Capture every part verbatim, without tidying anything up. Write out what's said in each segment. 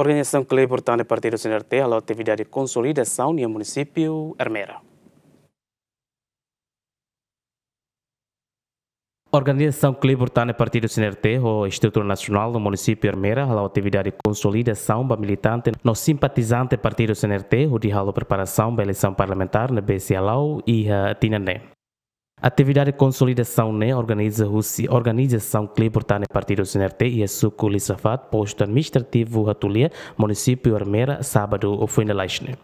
Organizasaun Kleur Tan Ne'e Partidu C N R T hala'o atividade konsolidasaun iha munisípiu Ermera. Organizasaun Kleur Tan Ne'e Partidu C N R T ho estrutura nasionál no munisípiu Ermera hala'o atividade konsolidasaun ba militante no simpatizante Partidu C N R T hodi halo preparasaun ba eleisaun parlamentár ne'ebé sei hala'o iha tinan ne'e. Atividade konsolidasaun ne'e organiza husi Organizasaun Kleur Tan Ne'e Partidu C N R T iha suku Lisafat, postu administrativu Hatulia, munisípiu Ermera, sábadu foin lalais ne'e.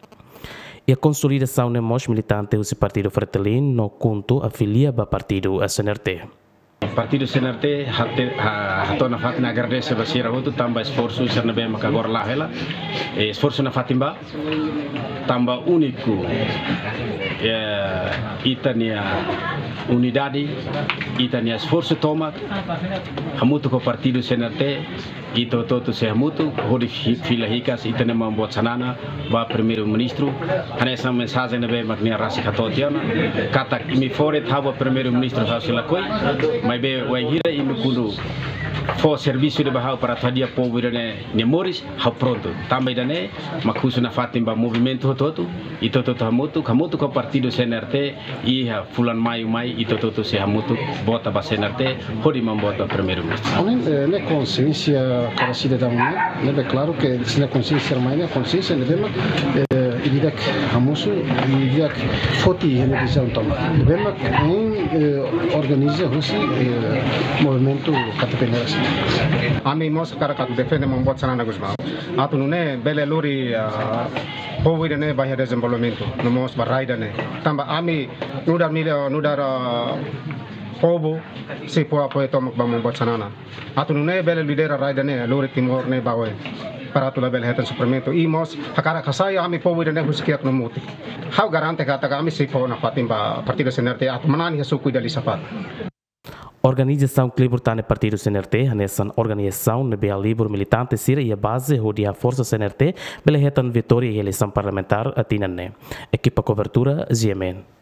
Iha konsolidasaun ne'e mós militante husi Partidu Fretilin no KHUNTO afilia ba Partidu C N R T. Partidu C N R T hate-, ha-, hato'o nafatin agradese ba sira hotu tanba esforsu sira ne'ebé maka agora la'o hela. Eh, esforsu nafatin ba tanba úniku, eh, ita-nia unidade, ita-nia esforsu tomak, hamutuk ho Partidu C N R T, ita hotu-hotu sei hamutuk, hodi fi-, fila hikas ita-nia Maun Boot Xanana ba Primeiru-Ministru, hanesan mensajen ne'ebé mak nia rasik hato'o tiha ona, katak imi fó de'it ha'u ba Primeiru-Ministru ha'u sei lakohi, maibé wainhira imi kuandu fó servisu ida ba ha'u para atu hadi'a povu ida-ne'e nia moris, ha'u prontu. Tanba ida-ne'e mak husu nafatin ba movimentu hotu-hotu, ita hotu-hotu hamutuk, hamutuk ho Partidu C N R T, iha fulan Maiu mai, ita hotu-hotu sei hamutuk vota ba C N R T, hodi Maun Boot ba Primeiru-Ministru. Ami, eh, ne'e konxiénsia kada sidadaun ne'e, ne'ebé klaru ke sira-nia konxiénsia mai ne'e, konxiénsia ne'ebé mak, eh, ida-idak hamosu, ida-idak foti iha nia dezizaun tomak. Ne'ebé mak, eh, organiza husi, eh, movimentu K T P Neras. Ami mós hakarak atu defende Maun Boot Xanana Gusmão. Atu nune'e bele lori, ah, povu ida-ne'e ba iha dezenvolvimentu, no mós ba rai ida-ne'e. Tanba ami nu'udar mili-, nu'udar, ah, povu sei fó apoiu tomak ba Maun Boot Xanana. Atu nune'e bele lidera rai ida-ne'e, lori Timor ne'e ba oin. Para atu labele hetan sofrimentu. I mós hakarak hasai ami povu ida-ne'e husi kiak no mutin. Ha'u garante katak ami sei fó nafatin ba Partidu C N R T atu manán iha suku ida Lisafat. Organizasaun Kleur Tan Ne'e Partidu C N R T hanesan organizasaun ne'ebé halibur militante sira iha baze hodi haforsa C N R T bele hetan vitória iha eleisaun parlamentár tinan ne'e. Ekipa kobertura, G M N.